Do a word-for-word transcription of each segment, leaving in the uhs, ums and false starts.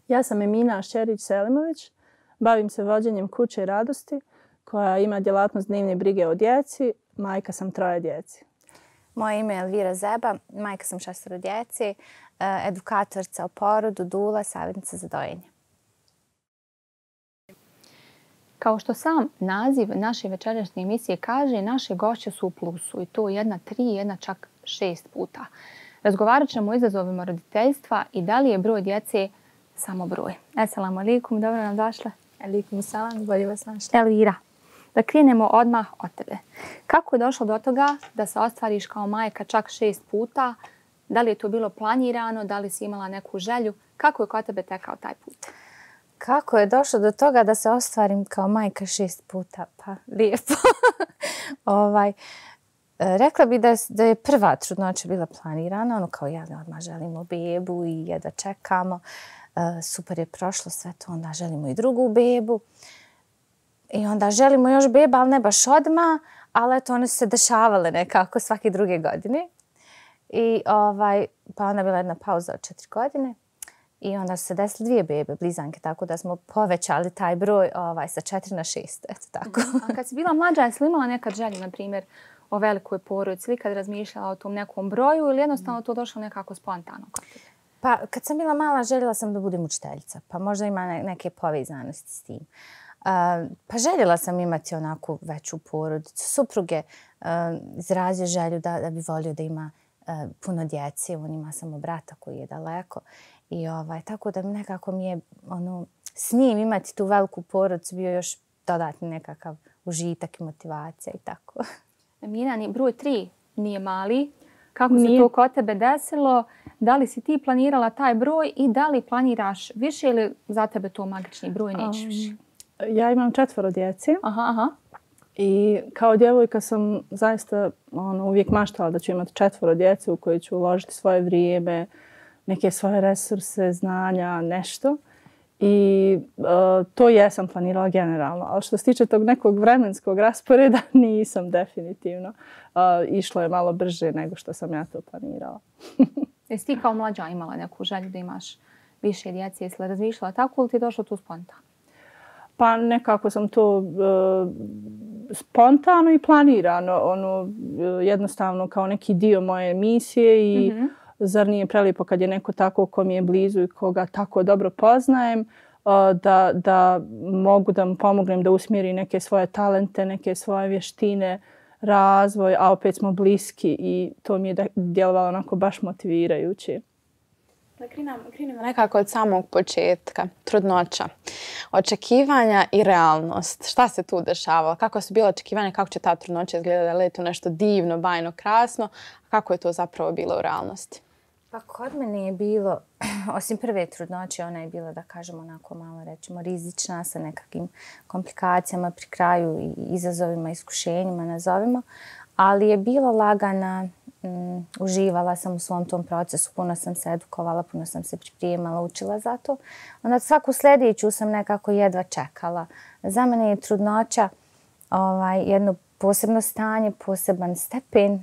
Ja sam Emina Šćerić-Selimović, bavim se vođenjem kuće radosti koja ima djelatnost dnevne brige o djeci, majka sam troje djeci. Moje ime je Elvira Zeba, majka sam šestoro djeci, edukatorica o porodu, dula, savjetnica za dojenje. Kao što sam naziv naše večerašnje emisije kaže, naše gošće su u plusu i to jedna tri, jedna čak šest puta. Razgovarat ćemo o izazovima roditeljstva i da li je broj djece samo broj. Assalamu alaikum, dobro nam došle. Alaikum salam, bolje vas našla. Elvira, da krenemo odmah od tebe. Kako je došlo do toga da se ostvariš kao majka čak šest puta? Da li je to bilo planirano? Da li si imala neku želju? Kako je kod tebe tekao taj put? Kako je došlo do toga da se ostvarim kao majka šest puta? Pa lijepo. ovaj, rekla bi da je, da je prva trudnoća bila planirana. Ono kao ja odmah želimo bebu i jedva čekamo. Uh, super je prošlo sve to, onda želimo i drugu bebu. I onda želimo još beba, ali ne baš odmah, ali eto one su se dešavale nekako svake druge godine. I ovaj, pa onda bila jedna pauza od četiri godine. I onda su se desile dvije bebe, blizanke, tako da smo povećali taj broj ovaj, sa četiri na šest. Eto tako. A kad si bila mlađa, jesi li imala nekad želju, na primjer, o velikoj porodici, ili kad razmišljala o tom nekom broju ili jednostavno to došlo nekako spontano kod tebe? Pa kad sam bila mala, željela sam da budem učiteljica, pa možda ima neke povezanosti s tim. Uh, pa željela sam imati onako veću porodicu. Supruge uh, izrazio želju da, da bi volio da ima uh, puno djece. On ima samo brata koji je daleko. I ovaj, tako da nekako mi je ono, s njim imati tu veliku porodicu bio još dodatni nekakav užitak i motivacija i tako. Emina, broj tri nije mali. Kako se to kod tebe desilo? Da li si ti planirala taj broj i da li planiraš više ili za tebe to magični broj nećeš više? Um, ja imam četvoro djeci. Aha, aha. I kao djevojka sam zaista ono, uvijek maštala da ću imati četvoro djece u koje ću uložiti svoje vrijeme, neke svoje resurse, znanja, nešto. I uh, to jesam planirala generalno. Ali što se tiče tog nekog vremenskog rasporeda, nisam definitivno. Uh, išlo je malo brže nego što sam ja to planirala. Jesi ti kao mlađa imala neku želju da imaš više djece? Jesi li razmišljala tako ili ti je došlo tu spontano? Pa nekako sam to uh, spontano i planirano. Ono, uh, jednostavno kao neki dio moje misije i mm-hmm. Zar nije prelijepo kad je neko tako ko mi je blizu i koga tako dobro poznajem, da, da mogu da mu pomognem da usmjeri neke svoje talente, neke svoje vještine, razvoj, a opet smo bliski i to mi je djelovalo onako baš motivirajuće. Da krenemo nekako od samog početka, trudnoća, očekivanja i realnost. Šta se tu dešavalo? Kako su bila očekivanja? Kako će ta trudnoća izgledati? Da li je to nešto divno, bajno, krasno? Kako je to zapravo bilo u realnosti? Pa kod mene je bilo, osim prve trudnoće, ona je bila, da kažemo, onako malo rečemo rizična sa nekakvim komplikacijama pri kraju i izazovima, iskušenjima, nazovimo. Ali je bila lagana, mm, uživala sam u svom tom procesu, puno sam se edukovala, puno sam se pripremala, učila za to. Onda svaku sljedeću sam nekako jedva čekala. Za mene je trudnoća ovaj, jedno posebno stanje, poseban stepen uh,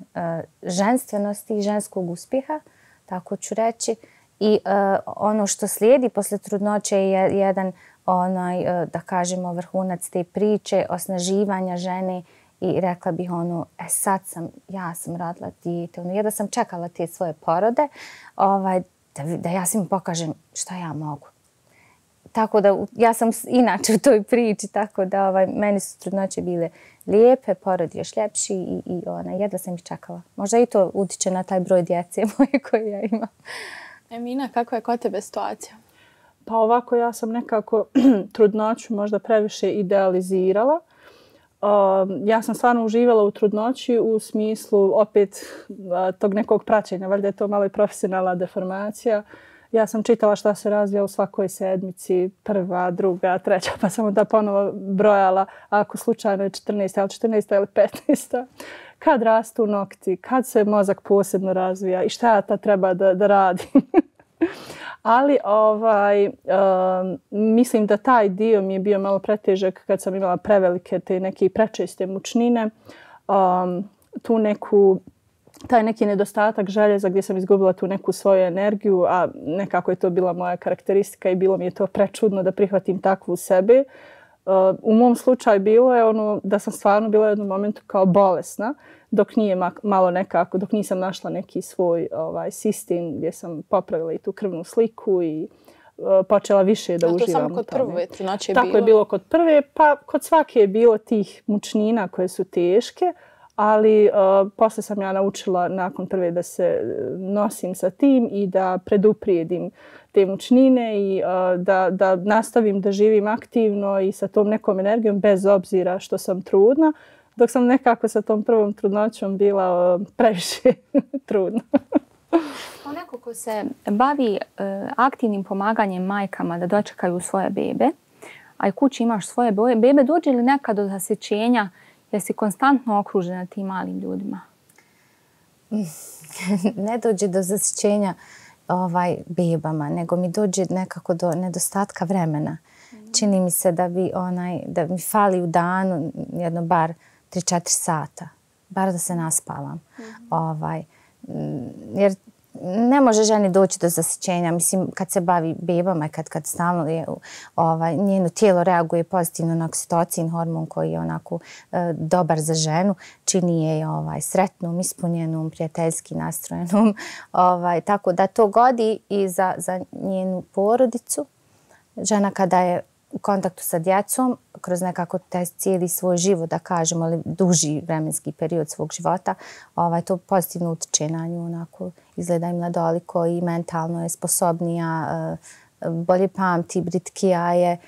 ženstvenosti i ženskog uspjeha, tako ću reći. I uh, ono što slijedi posle trudnoće je jedan, onaj, uh, da kažemo, vrhunac te priče, osnaživanja žene i rekla bih ono, e sad sam, ja sam radila dijete, ono, jedva sam čekala te svoje porode, ovaj, da, da ja svim pokažem šta ja mogu. Tako da ja sam inače u toj priči, tako da ovaj, meni su trudnoće bile lijepe, porod još ljepši i, i ona, jedva sam ih čekala. Možda i to utiče na taj broj djece moje koje ja imam. Emina, kako je kod tebe situacija? Pa ovako ja sam nekako trudnoću možda previše idealizirala. Uh, ja sam stvarno uživala u trudnoći u smislu opet uh, tog nekog praćenja. Valjda je to malo i profesionalna deformacija. Ja sam čitala šta se razvija u svakoj sedmici, prva, druga, treća, pa sam onda ponovo brojala ako slučajno je četrnaesta, ili četrnaesta ili petnaesta. Kad rastu nokti, kad se mozak posebno razvija i šta ja tad treba da, da radim. Ali ovaj, um, mislim da taj dio mi je bio malo pretežak kad sam imala prevelike te neke prečeste mučnine. Um, tu neku taj neki nedostatak željeza gdje sam izgubila tu neku svoju energiju, a nekako je to bila moja karakteristika i bilo mi je to prečudno da prihvatim takvu u sebi. U mom slučaju bilo je ono da sam stvarno bila u jednom momentu kao bolesna, dok nije malo nekako, dok nisam našla neki svoj ovaj, sistem gdje sam popravila i tu krvnu sliku i uh, počela više da a uživam. To samo kod prve trudnoće je Tako bilo? je bilo kod prve, pa kod svake je bilo tih mučnina koje su teške, ali uh, posle sam ja naučila nakon prve da se nosim sa tim i da preduprijedim te mučnine i uh, da, da nastavim da živim aktivno i sa tom nekom energijom bez obzira što sam trudna, dok sam nekako sa tom prvom trudnoćom bila uh, previše trudna. Kao neko ko se bavi uh, aktivnim pomaganjem majkama da dočekaju svoje bebe, a i kući imaš svoje bebe, dođe li nekad do zasjećenja jer si konstantno okružena tim malim ljudima? Ne dođe do zasjećenja ovaj, bebama, nego mi dođe nekako do nedostatka vremena. Mm. Čini mi se da bi onaj, da mi fali u danu jedno bar tri četiri sata. Bar da se naspavam. Mm. Ovaj, jer ne može ženi doći do zasjećenja. Mislim, kad se bavi bebama i kad, kad stalno je, ovaj, njeno tijelo reaguje pozitivno na oksitocin, hormon koji je onako e, dobar za ženu, čini je ovaj, sretnom, ispunjenom, prijateljski nastrojenom. Ovaj, tako da to godi i za, za njenu porodicu. Žena kada je u kontaktu sa djecom, kroz nekako taj cijeli svoj život, da kažemo, ali duži vremenski period svog života, ovaj, to pozitivno utiče na nju, onako izgleda im mladoliko i mentalno je sposobnija, bolje pamti, britkija je.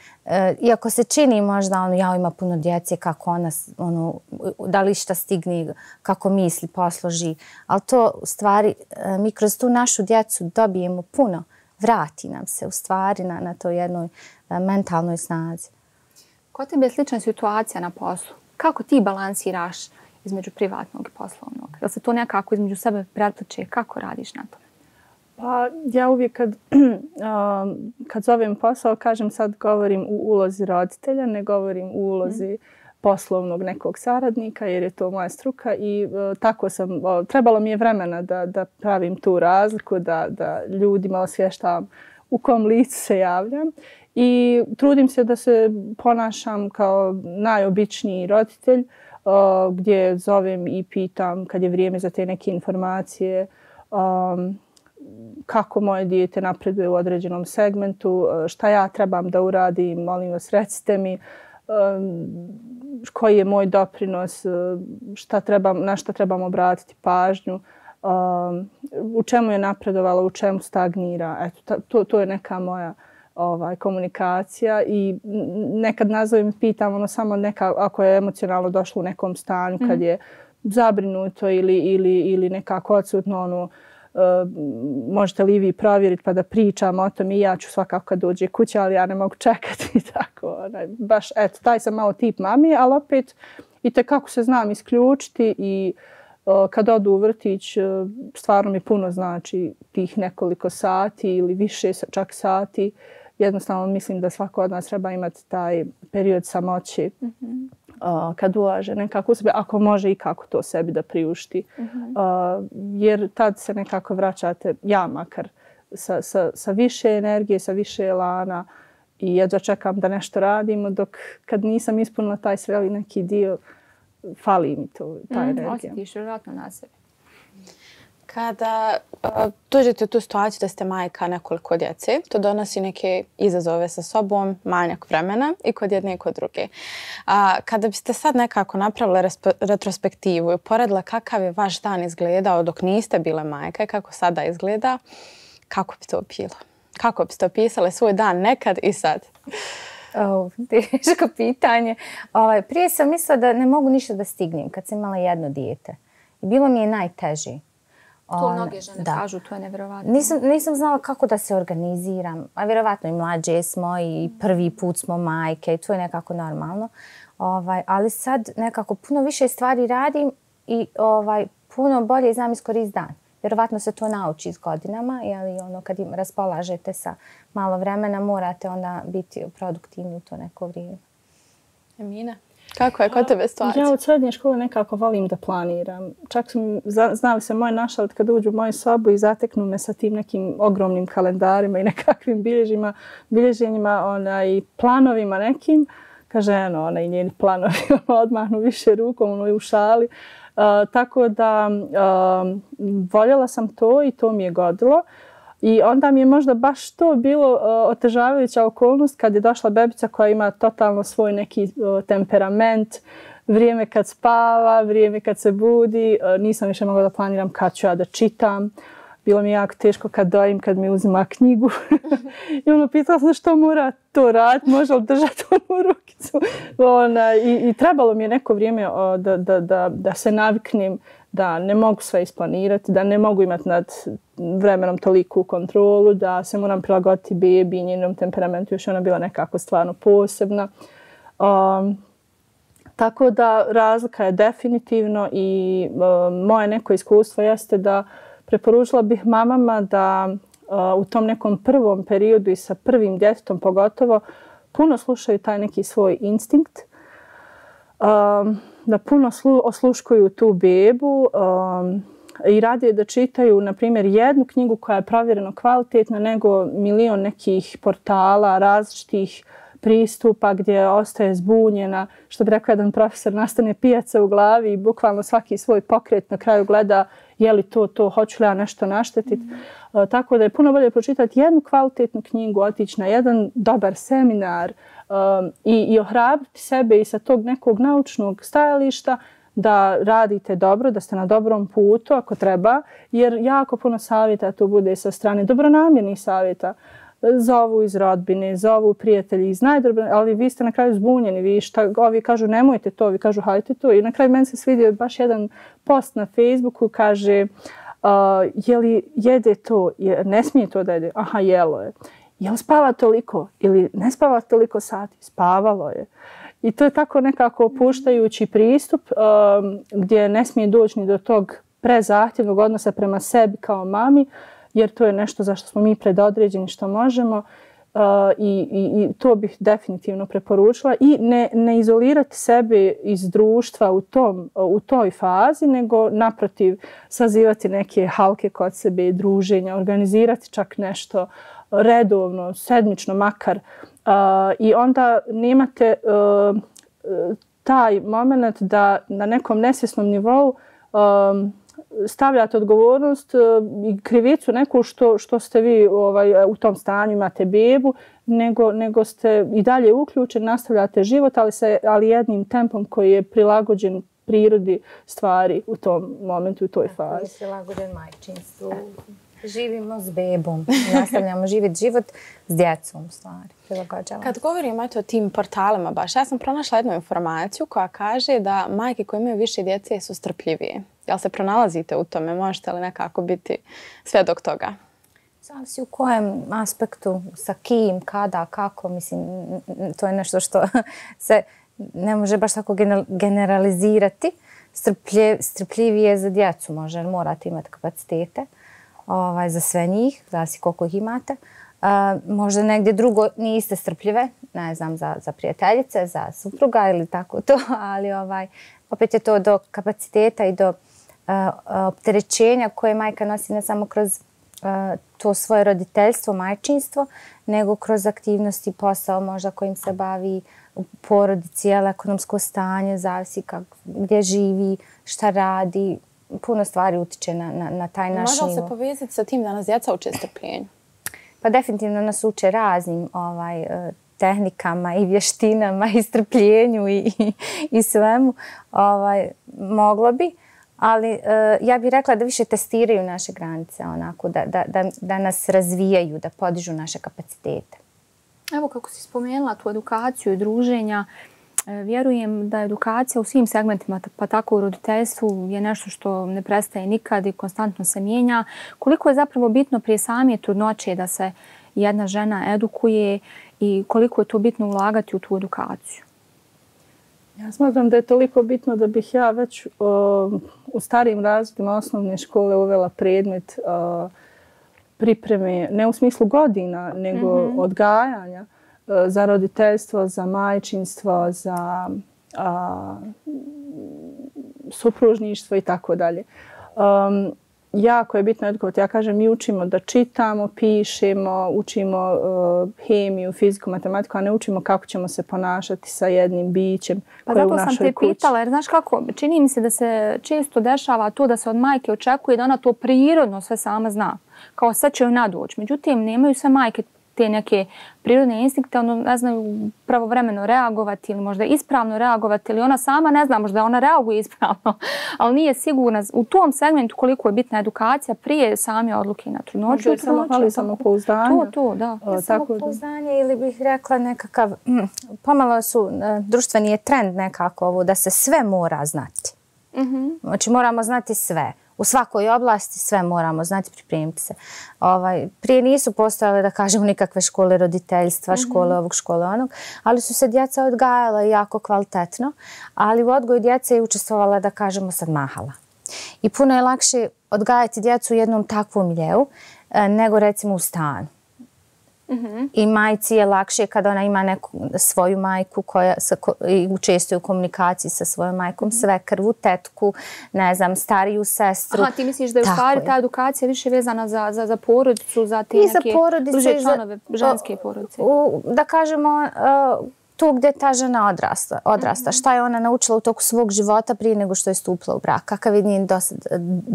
Iako se čini možda, ono, ja ima puno djece, kako ona, ono, da li šta stigne, kako misli, posloži, ali to u stvari, mi kroz tu našu djecu dobijemo puno, vrati nam se u stvari na, na toj jednoj mentalnoj snazi. Kod tebe je slična situacija na poslu. Kako ti balansiraš između privatnog i poslovnog? Jel se to nekako između sebe prepliče? Kako radiš na tome? Pa ja uvijek kad, kad zovem posao, kažem sad govorim u ulozi roditelja, ne govorim u ulozi poslovnog nekog saradnika jer je to moja struka i uh, tako sam, uh, trebalo mi je vremena da, da pravim tu razliku, da, da ljudima osvještavam u kom licu se javljam i trudim se da se ponašam kao najobičniji roditelj uh, gdje zovem i pitam kad je vrijeme za te neke informacije, um, kako moje dijete napreduje u određenom segmentu, šta ja trebam da uradim, molim vas recite mi koji je moj doprinos, šta trebam, na šta trebam obratiti pažnju, u čemu je napredovala, u čemu stagnira. Eto, to, to je neka moja ovaj, komunikacija i nekad nazovem i pitam ono samo neka, ako je emocionalno došlo u nekom stanju, kad je zabrinuto ili, ili, ili nekako odsutno ono, Uh, možete li vi provjeriti pa da pričam o tom i ja ću svakako kad dođe kuća, ali ja ne mogu čekati tako. Onaj, baš, eto, taj sam malo tip mami, ali opet i tekako se znam isključiti i uh, kad odu u vrtić uh, stvarno mi puno znači tih nekoliko sati ili više čak sati. Jednostavno mislim da svako od nas treba imati taj period samoći. Mm-hmm. Uh, kad ulaže nekako u sebe, ako može i kako to sebi da priušti. Uh-huh. Uh, jer tad se nekako vraćate, ja makar, sa, sa, sa više energije, sa više elana i jedva čekam da nešto radimo, dok kad nisam ispunila taj sveli neki dio, fali mi to, ta mm, energija. Osjetiš vjerojatno na sebi. Kada uh, dođete u tu situaciju da ste majka nekoliko djece, to donosi neke izazove sa sobom, manjak vremena i kod jedne i kod druge. A, kada biste sad nekako napravili retrospektivu i poredila kakav je vaš dan izgledao dok niste bile majka i kako sada izgleda, kako bi to bilo? Kako biste opisali svoj dan nekad i sad? Oh, teško pitanje. Ovaj, prije sam mislila da ne mogu ništa da stignem kad sam imala jedno dijete. I bilo mi je najteže. To mnoge žene da. kažu, to je nevjerovatno. Nisam, nisam znala kako da se organiziram. A vjerovatno i mlađe smo i prvi put smo majke i to je nekako normalno. Ovaj, ali sad nekako puno više stvari radim i ovaj, puno bolje znam iskoristiti dan. Vjerovatno se to nauči s godinama, ali ono, kad im raspolažete sa malo vremena morate onda biti produktivni u to neko vrijeme. Emina? Kako je kod tebe situacija? Ja od srednje škole nekako volim da planiram. Čak sam, znali se moje našalit kad uđu u moju sobu i zateknu me sa tim nekim ogromnim kalendarima i nekakvim bilježima, bilježenjima ona, i planovima nekim. Kaže, eno, ona i njeni planovi odmahnu više rukom, ono i u šali. Uh, tako da uh, voljela sam to i to mi je godilo. I onda mi je možda baš to bilo uh, otežavajuća okolnost kad je došla bebica koja ima totalno svoj neki uh, temperament, vrijeme kad spava, vrijeme kad se budi. Uh, nisam više mogla da planiram kad ću ja da čitam. Bilo mi je jako teško kad dojim, kad mi uzima knjigu. I ono, pitala sam što mora to raditi, može li držati onu rukicu. Ona, i, I trebalo mi je neko vrijeme o, da, da, da, da se naviknem da ne mogu sve isplanirati, da ne mogu imati nad vremenom toliku kontrolu, da se moram prilagoditi bebi i njenom temperamentu, još ona bila nekako stvarno posebna. Um, tako da razlika je definitivno i um, moje neko iskustvo jeste da preporučila bih mamama da uh, u tom nekom prvom periodu i sa prvim djetetom pogotovo puno slušaju taj neki svoj instinkt, um, da puno slu, osluškuju tu bebu um, i radije da čitaju, na primjer, jednu knjigu koja je provjereno kvalitetna nego milion nekih portala, različitih pristupa gdje ostaje zbunjena. Što bi rekao jedan profesor, nastane pijaca u glavi i bukvalno svaki svoj pokret na kraju gleda je li to, to, hoću li ja nešto naštetiti. Mm. Uh, tako da je puno bolje pročitati jednu kvalitetnu knjigu, otići na jedan dobar seminar um, i, i ohrabriti sebe i sa tog nekog naučnog stajališta da radite dobro, da ste na dobrom putu ako treba, jer jako puno savjeta tu bude sa strane dobronamjernih savjeta. Zovu iz rodbine, zovu prijatelji iz najdobro, ali vi ste na kraju zbunjeni, vi šta, ovi kažu nemojte to, vi kažu hajte to. I na kraju meni se svidio baš jedan post na Facebooku, kaže uh, je li jede to, je, ne smije to da jede, aha jelo je. Je li spava toliko ili ne spava toliko sati? Spavalo je. I to je tako nekako opuštajući pristup um, gdje ne smije doći ni do tog prezahtjevnog odnosa prema sebi kao mami, jer to je nešto za što smo mi predodređeni što možemo uh, i, i, i to bih definitivno preporučila. I ne, ne izolirati sebe iz društva u, tom, u toj fazi, nego naprotiv sazivati neke halke kod sebe, druženja, organizirati čak nešto redovno, sedmično makar. Uh, I onda nemate uh, taj moment da na nekom nesvjesnom nivou um, stavljate odgovornost i krivicu neku što, što ste vi ovaj, u tom stanju, imate bebu, nego, nego ste i dalje uključeni, nastavljate život, ali, se, ali jednim tempom koji je prilagođen prirodi stvari u tom momentu, u toj fazi. Koji je prilagođen majčinstvu. Živimo s bebom, nastavljamo živjeti život s djecom, stvari. Prilagođavamo. Kad govorimo o tim portalima baš, ja sam pronašla jednu informaciju koja kaže da majke koje imaju više djece su strpljivije. Jel se pronalazite u tome? Možete li nekako biti svjedok toga? Zavisi u kojem aspektu, sa kim, kada, kako. Mislim, to je nešto što se ne može baš tako generalizirati. Strpljiv, strpljivije za djecu može, morate imati kapacitete. Ovaj, za sve njih, zavisi koliko ih imate. Uh, možda negdje drugo niste strpljive, ne znam, za, za prijateljice, za supruga ili tako to, ali ovaj, opet je to do kapaciteta i do uh, opterećenja koje majka nosi ne samo kroz uh, to svoje roditeljstvo, majčinstvo, nego kroz aktivnosti, posao možda kojim se bavi u porodici, ekonomsko stanje, zavisi kak, gdje živi, šta radi. Puno stvari utiče na, na, na taj naš nivo. Može li se povezati sa tim da nas djeca uče strpljenju? Pa definitivno nas uče raznim ovaj, tehnikama i vještinama i strpljenju i, i, i svemu. Ovaj, moglo bi, ali ja bih rekla da više testiraju naše granice, onako, da, da, da, da nas razvijaju, da podižu naše kapacitete. Evo kako si spomenula tu edukaciju i druženja, vjerujem da edukacija u svim segmentima, pa tako u roditeljstvu, je nešto što ne prestaje nikad i konstantno se mijenja. Koliko je zapravo bitno prije same trudnoće da se jedna žena edukuje i koliko je to bitno ulagati u tu edukaciju? Ja smatram da je toliko bitno da bih ja već o, u starijim razredima osnovne škole uvela predmet o, pripreme, ne u smislu godina, nego mm-hmm. odgajanja za roditeljstvo, za majčinstvo, za a, supružništvo i tako dalje. Um, jako je bitno edukovati. Ja kažem, mi učimo da čitamo, pišemo, učimo uh, hemiju, fiziku, matematiku, a ne učimo kako ćemo se ponašati sa jednim bićem pa koje je u našoj kući. Pa zato sam te pitala, jer znaš kako, čini mi se da se često dešava to da se od majke očekuje da ona to prirodno sve sama zna. Kao sad će joj nadoći. Međutim, nemaju sve majke te neke prirodne instinkte, ono ne znaju pravovremeno reagovati ili možda ispravno reagovati ili ona sama ne zna, možda ona reaguje ispravno, ali nije sigurna u tom segmentu koliko je bitna edukacija prije same odluke na trudnoću. Možda samo hvali samopouzdanje. To, to, da. Ja, samopouzdanje ili bih rekla nekakav, mm, pomalo su, društveni je trend nekako ovo da se sve mora znati. Mm-hmm. Znači moramo znati sve. U svakoj oblasti sve moramo znati, pripremiti se. Ovaj, prije nisu postojale, da kažemo, nikakve škole roditeljstva, mm-hmm. škole ovog, škole onog, ali su se djeca odgajala jako kvalitetno, ali u odgoju djece je učestvovala, da kažemo, sad mahala. I puno je lakše odgajati djecu u jednom takvom miljeu nego recimo u stanu. Mm-hmm. I majci je lakše kada ona ima neku svoju majku koja sa, ko, i učestvuje u komunikaciji sa svojom majkom, mm-hmm. svekrvu, tetku, ne znam, stariju sestru. Aha, ti misliš da je u stvari ta edukacija više vezana za, za, za porodicu, za te I neke bliže članove ženske o, porodice? U, da kažemo, uh, tu gdje ta žena odrasta, odrasta. Mm-hmm. Šta je ona naučila u toku svog života prije nego što je stupila u brak? Kakav je njen dosad,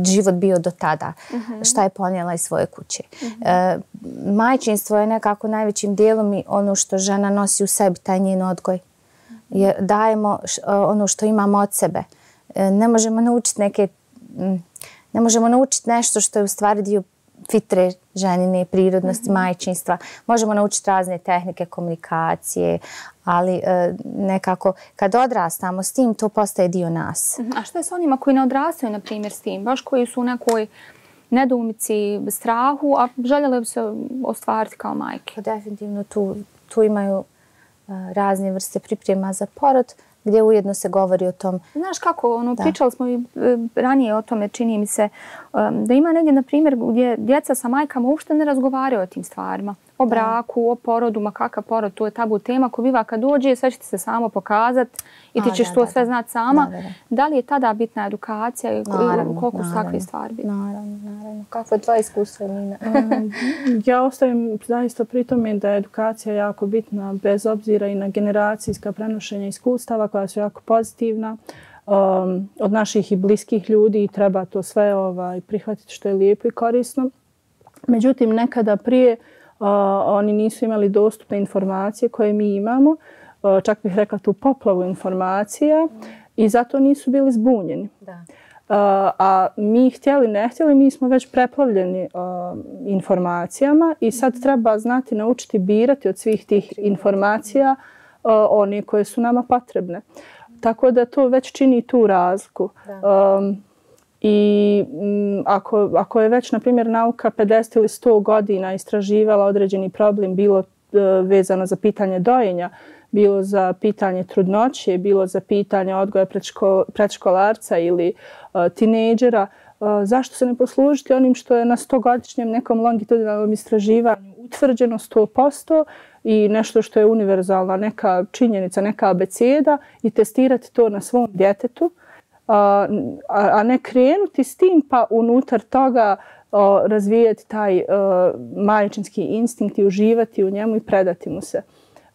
život bio do tada? Mm-hmm. Šta je ponijela iz svoje kuće? Mm-hmm. E, majčinstvo je nekako najvećim dijelom i ono što žena nosi u sebi, taj njen odgoj. Je, dajemo š, ono što imamo od sebe. E, ne možemo naučiti neke, ne možemo naučiti nešto što je u stvari dio fitre ženine, prirodnosti, mm-hmm. majčinstva. Možemo naučiti razne tehnike komunikacije, ali e, nekako kad odrastamo s tim, to postaje dio nas. Mm-hmm. A što je s onima koji ne odrastaju, na primjer, s tim? Baš koji su u nekoj nedoumici, strahu, a željeli bi se ostvariti kao majke? Definitivno tu, tu imaju uh, razne vrste priprema za porod, gdje ujedno se govori o tom. Znaš kako, ono, pričali smo i ranije o tome, čini mi se, um, da ima negdje, na primjer, gdje djeca sa majkama uopšte ne razgovaraju o tim stvarima. O braku, o porodu, ma kakav porod, to je tabu tema. Ko biva kad dođe, sve će ti se samo pokazati i ti ćeš da, to da, sve da. znati sama. Da, da, da. Da li je tada bitna edukacija i naravno, koliko su naravno, takve stvari bitne? Naravno, naravno. Kako je tvoje iskustvo, Nina? Ja ostajem zaista pri tome da je edukacija jako bitna, bez obzira i na generacijska prenošenja iskustava koja su jako pozitivna. Um, od naših i bliskih ljudi i treba to sve ovaj, prihvatiti što je lijepo i korisno. Međutim, nekada prije uh, oni nisu imali dostupne informacije koje mi imamo, uh, čak bih rekla tu poplavu informacija mm. i zato nisu bili zbunjeni. Da. Uh, a mi htjeli, ne htjeli, mi smo već preplavljeni uh, informacijama i sad treba znati, naučiti birati od svih tih informacija uh, one koje su nama potrebne. Tako da to već čini tu razliku. Um, I m, ako, ako je već, na primjer, nauka pedeset ili sto godina istraživala određeni problem, bilo uh, vezano za pitanje dojenja, bilo za pitanje trudnoće, bilo za pitanje odgoja predško, predškolarca ili uh, tinejdžera, uh, zašto se ne poslužiti onim što je na stogodišnjem nekom longitudinalnom istraživanju utvrđeno sto posto i nešto što je univerzalna neka činjenica, neka abeceda i testirati to na svom djetetu, a, a ne krenuti s tim pa unutar toga a, razvijati taj a, majčinski instinkt i uživati u njemu i predati mu se.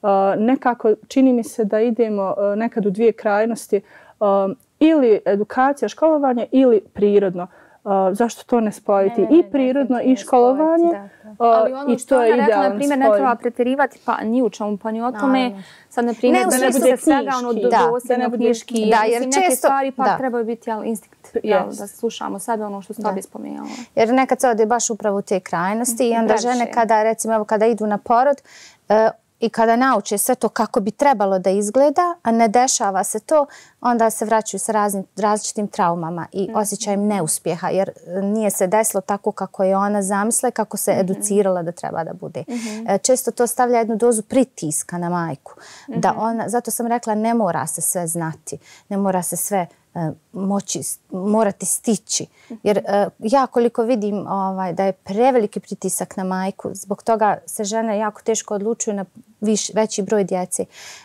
A, nekako čini mi se da idemo a, nekad u dvije krajnosti, a, ili edukacija, školovanje ili prirodno. Uh, zašto to ne spojiti? Ne, ne, I prirodno i školovanje. Spojiti, da, da. Ali ono i što ona rekla, na primjer, ne treba pretjerivati pa ni u čemu, pa ni o tome. No, sad, na primjer, ne, da ne bude svega ono dosljedno knjiški. Da, jer neke često, stvari pa da. trebaju biti ali instinkt. Yes. Da slušamo sebe ono što ste bi spomenula. Jer nekad se ode baš upravo u te krajnosti i onda žene kada, recimo, evo, kada idu na porod, uh, i kada nauče sve to kako bi trebalo da izgleda, a ne dešava se to, onda se vraćaju sa raznim, različitim traumama i mm-hmm. osjećajem neuspjeha, jer nije se desilo tako kako je ona zamisla i kako se mm-hmm. educirala da treba da bude. Mm-hmm. Često to stavlja jednu dozu pritiska na majku. Mm-hmm. Da ona, zato sam rekla, ne mora se sve znati, ne mora se sve uh, moći, morati stići. Jer uh, ja koliko vidim ovaj, da je preveliki pritisak na majku, zbog toga se žene jako teško odlučuju na viš, veći broj djece.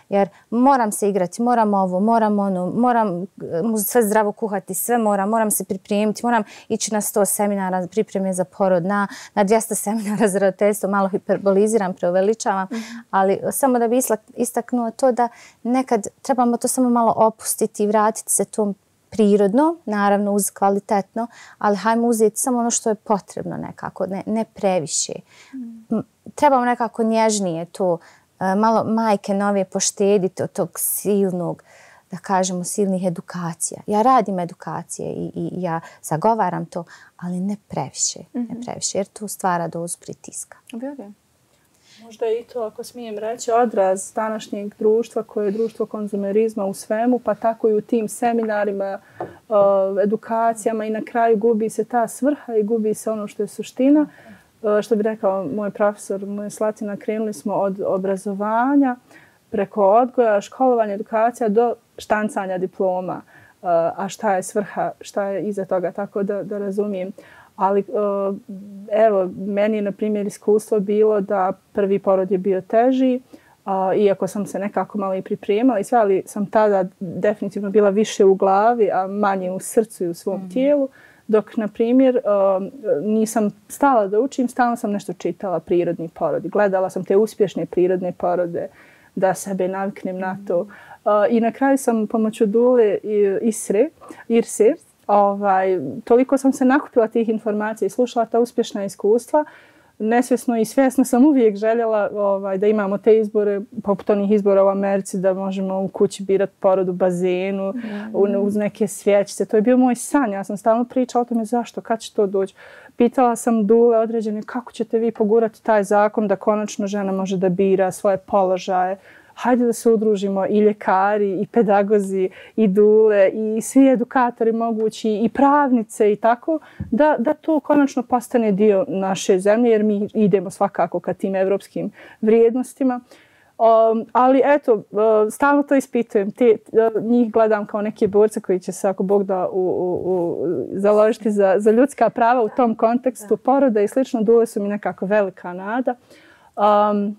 Jer moram se igrati, moram ovo, moram ono, moram sve zdravo kuhati, sve moram, moram se pripremiti, moram ići na sto seminara pripreme za porod, na, na dvjesto seminara za roditeljstvo, malo hiperboliziram, preuveličavam, mm-hmm. ali samo da bi istaknuo to da nekad trebamo to samo malo opustiti i vratiti se tom prirodno, naravno uz kvalitetno, ali hajmo uzeti samo ono što je potrebno nekako, ne, ne previše. Mm. Trebamo nekako nježnije to, malo majke nove poštediti od tog silnog, da kažemo, silnih edukacija. Ja radim edukacije i, i ja zagovaram to, ali ne previše, mm-hmm. ne previše, jer to stvara dozu pritiska. Vjerujem. Možda je i to, ako smijem reći, odraz današnjeg društva koje je društvo konzumerizma u svemu, pa tako i u tim seminarima, edukacijama i na kraju gubi se ta svrha i gubi se ono što je suština. Što bi rekao moj profesor, moja Slatina, krenuli smo od obrazovanja preko odgoja, školovanja, edukacija do štancanja diploma. A šta je svrha, šta je iza toga, tako da, da razumijem. Ali evo, meni je na primjer iskustvo bilo da prvi porod je bio teži, iako sam se nekako malo i pripremala i sve, ali sam tada definitivno bila više u glavi, a manje u srcu i u svom mm. tijelu. Dok, na primjer, nisam stala da učim, stalno sam nešto čitala prirodni porodi. Gledala sam te uspješne prirodne porode da sebe naviknem na to. I na kraju sam pomoću Dule Isre, Irse, ovaj, toliko sam se nakupila tih informacija i slušala ta uspješna iskustva. Nesvjesno i svjesno sam uvijek željela ovaj, da imamo te izbore, poput onih izbora u Americi, da možemo u kući birati porod u bazenu, mm. uz neke svjećice. To je bio moj san. Ja sam stalno pričala o tome zašto, kad će to doći. Pitala sam Dule određene kako ćete vi pogurati taj zakon da konačno žena može da bira svoje položaje. Hajde da se udružimo i ljekari, i pedagozi, i dule, i svi edukatori mogući, i pravnice i tako, da, da to konačno postane dio naše zemlje, jer mi idemo svakako ka tim evropskim vrijednostima. Um, ali eto, uh, stalno to ispitujem. Te, uh, njih gledam kao neke borce koji će se, ako Bog da, u, u, u, založiti za, za ljudska prava u tom kontekstu poroda i slično. Dule su mi nekako velika nada. Um,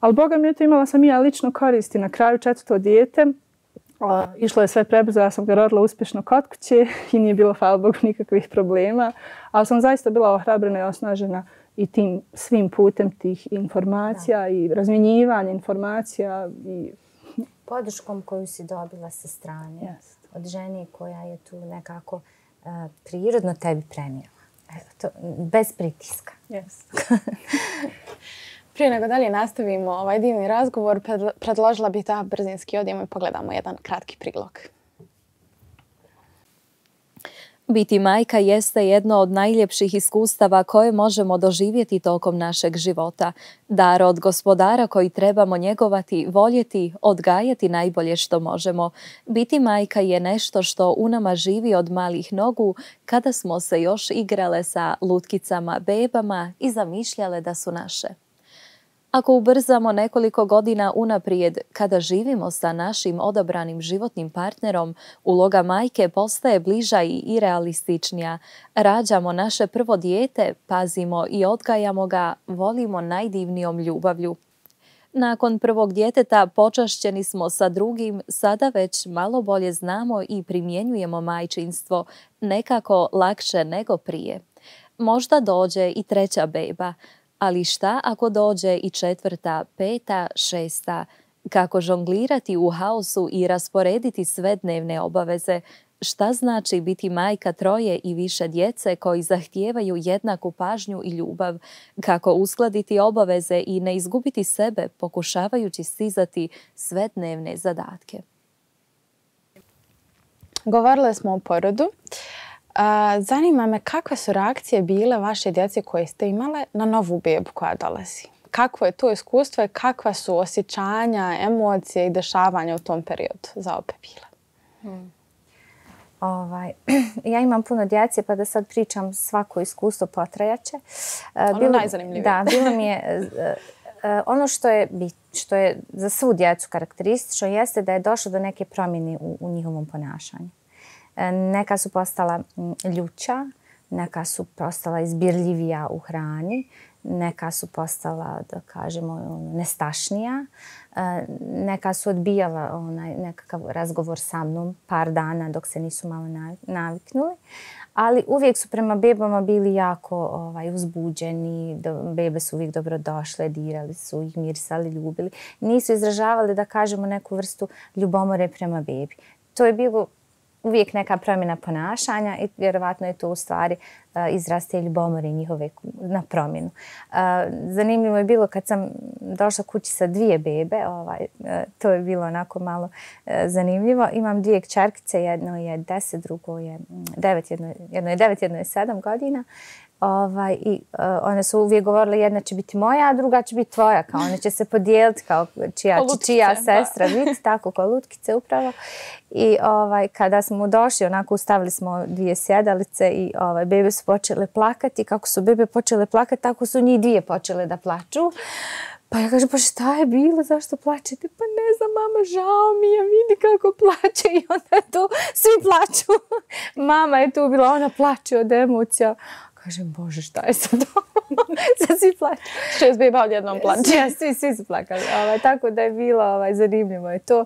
Ali Boga mi je to, imala sam i ja lično koristi. Na kraju četvrto dijete, a, išlo je sve prebrzo, ja sam ga rodila uspješno kod kuće i nije bilo, hvala Bogu, nikakvih problema. Ali sam zaista bila ohrabrena i osnažena i tim svim putem tih informacija da. I razmjenjivanja informacija. I... Podrškom koju si dobila sa strane yes. od žene koja je tu nekako uh, prirodno tebi prenijela. Evo to, bez pritiska. Yes. Prije nego dalje nastavimo ovaj divni razgovor, predložila bih da brzinski odijemo i pogledamo jedan kratki prilog. Biti majka jeste jedno od najljepših iskustava koje možemo doživjeti tokom našeg života. Dar od Gospodara koji trebamo njegovati, voljeti, odgajati najbolje što možemo. Biti majka je nešto što u nama živi od malih nogu kada smo se još igrale sa lutkicama, bebama i zamišljale da su naše. Ako ubrzamo nekoliko godina unaprijed, kada živimo sa našim odabranim životnim partnerom, uloga majke postaje bliža i realističnija. Rađamo naše prvo dijete, pazimo i odgajamo ga, volimo najdivnijom ljubavlju. Nakon prvog djeteta počašćeni smo sa drugim, sada već malo bolje znamo i primjenjujemo majčinstvo, nekako lakše nego prije. Možda dođe i treća beba. Ali šta ako dođe i četvrta, peta, šesta? Kako žonglirati u haosu i rasporediti sve dnevne obaveze? Šta znači biti majka troje i više djece koji zahtijevaju jednaku pažnju i ljubav? Kako uskladiti obaveze i ne izgubiti sebe pokušavajući stizati sve dnevne zadatke? Govorile smo o porodu. Zanima me kakve su reakcije bile vaše djece koje ste imale na novu bebu koja dolazi. Kakvo je to iskustvo i kakva su osjećanja, emocije i dešavanja u tom periodu za obe bile? Hmm. Ovaj, ja imam puno djece pa da sad pričam svako iskustvo potrajaće. Ono bilo, najzanimljivije. Da, bilo mi je... Ono što je, što je za svu djecu karakteristično jeste da je došlo do neke promjene u, u njihovom ponašanju. Neka su postala ljuća, neka su postala izbirljivija u hrani, neka su postala, da kažemo, nestašnija. Neka su odbijala onaj nekakav razgovor sa mnom par dana dok se nisu malo naviknuli. Ali uvijek su prema bebama bili jako ovaj, uzbuđeni, do, bebe su uvijek dobro došle, dirali su ih, mirisali, ljubili. Nisu izražavali, da kažemo, neku vrstu ljubomore prema bebi. To je bilo uvijek neka promjena ponašanja i vjerovatno je to u stvari uh, izraz te ljubomore njihove na promjenu. Uh, zanimljivo je bilo kad sam došla kući sa dvije bebe, ovaj, uh, to je bilo onako malo uh, zanimljivo. Imam dvije kćerkice, jedno je deset, drugo je devet, jedno, jedno je devet, jedno je sedam godina. Ovaj, i uh, one su uvijek govorile jedna će biti moja, a druga će biti tvoja, kao one će se podijeliti kao čija, lutkice, čija sestra biti, tako kao lutkice upravo. I ovaj, kada smo došli, onako ustavili smo dvije sjedalice i ovaj, bebe su počele plakati. Kako su bebe počele plakati, tako su njih dvije počele da plaču. Pa ja kažem, pa šta je bilo, zašto plačete? Pa ne znam, mama, žao mi je, vidi kako plače. I onda je tu, svi plaču. Mama je tu bila, ona plače od emocija. Kažem, Bože, šta je sad ovo? Sad svi plaću. Šest beba odjednom plaće. Ja, svi, svi su plakali. Ovaj, tako da je bilo ovaj, zanimljivo je to.